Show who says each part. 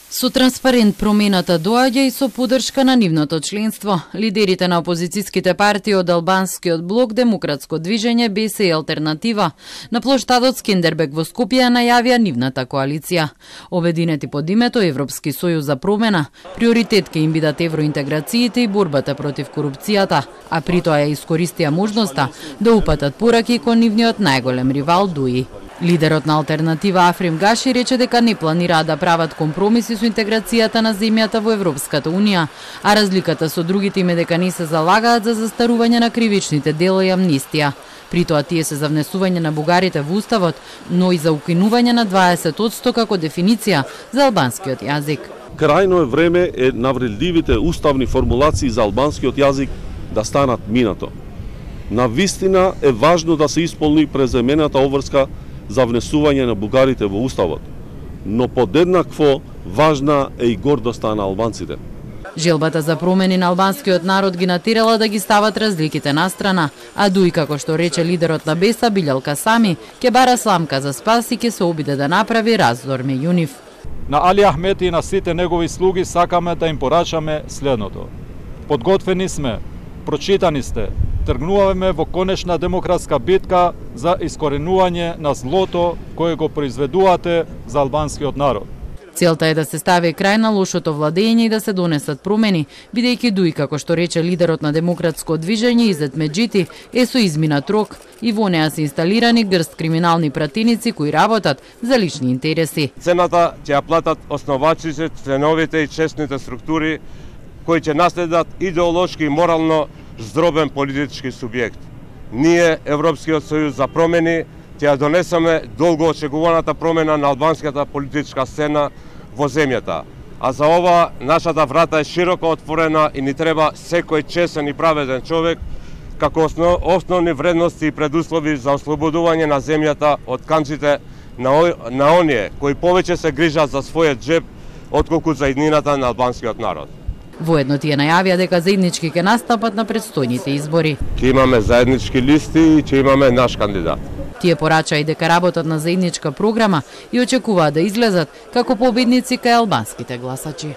Speaker 1: Со транспарент промената доаѓа и со поддршка на нивното членство. Лидерите на опозицијските партии од албанскиот блок Демократско движење БС и Алтернатива на плоштадот Скендербег во Скопје најавија нивната коалиција. Обединети под името Европски сојуз за промена, приоритет ке им бидат евроинтеграциите и борбата против корупцијата, а при тоа ја искористија можноста да упатат пораки кон нивниот најголем ривал ДУИ. Лидерот на Алтернатива Африм Гаши рече дека не планираат да прават компромиси со интеграцијата на земјата во Европската Унија, а разликата со другите им е дека не се залагаат за застарување на кривичните дела и амнистија. При тоа тие се за внесување на бугарите во уставот, но и за укинување на 20% како дефиниција за албанскиот јазик.
Speaker 2: Крајно е време навредливите уставни формулации за албанскиот јазик да станат минато. Навистина е важно да се исполни преземената обврска за внесување на бугарите во уставот, но подеднакво важна е и гордоста на албанците.
Speaker 1: Желбата за промени на албанскиот народ ги натерала да ги стават разликите на страна, а ДУИ, како што рече лидерот на БЕСА Билјал Касами, ќе бара сламка за спас и ќе се обиде да направи раздор меѓу нив.
Speaker 3: На Али Ахмети и на сите негови слуги сакаме да им порачаме следното. Подготвени сме, прочитани сте, тргнуваме во конечна демократска битка за искоренување на злото кое го произведувате за албанскиот народ.
Speaker 1: Целта е да се стави крај на лошото владење и да се донесат промени, бидејќи ДУИ, како што рече лидерот на Демократско движење Изет Меджити, е со изминат рок и во неа се инсталирани грст криминални пратеници кои работат за лични интереси.
Speaker 4: Цената ќе ја платат основачите, членовите и честните структури кои ќе наследат идеолошки и морално здробен политички субјект. Ние, Европскиот сојуз за промени, ќе ја донесеме долго очекуваната промена на албанската политичка сцена во земјата. А за ова нашата врата е широко отворена и ни треба секој честен и праведен човек како основни вредности и предуслови за ослободување на земјата од канџите на оние кои повеќе се грижат за својот джеб отколку за иднината на албанскиот народ.
Speaker 1: Воедно тие најавија дека заеднички ќе настапат на предстојните избори.
Speaker 4: Ќе имаме заеднички листи и ќе имаме наш кандидат.
Speaker 1: Тие порача и дека работат на заедничка програма и очекуваат да излезат како победници кај албанските гласачи.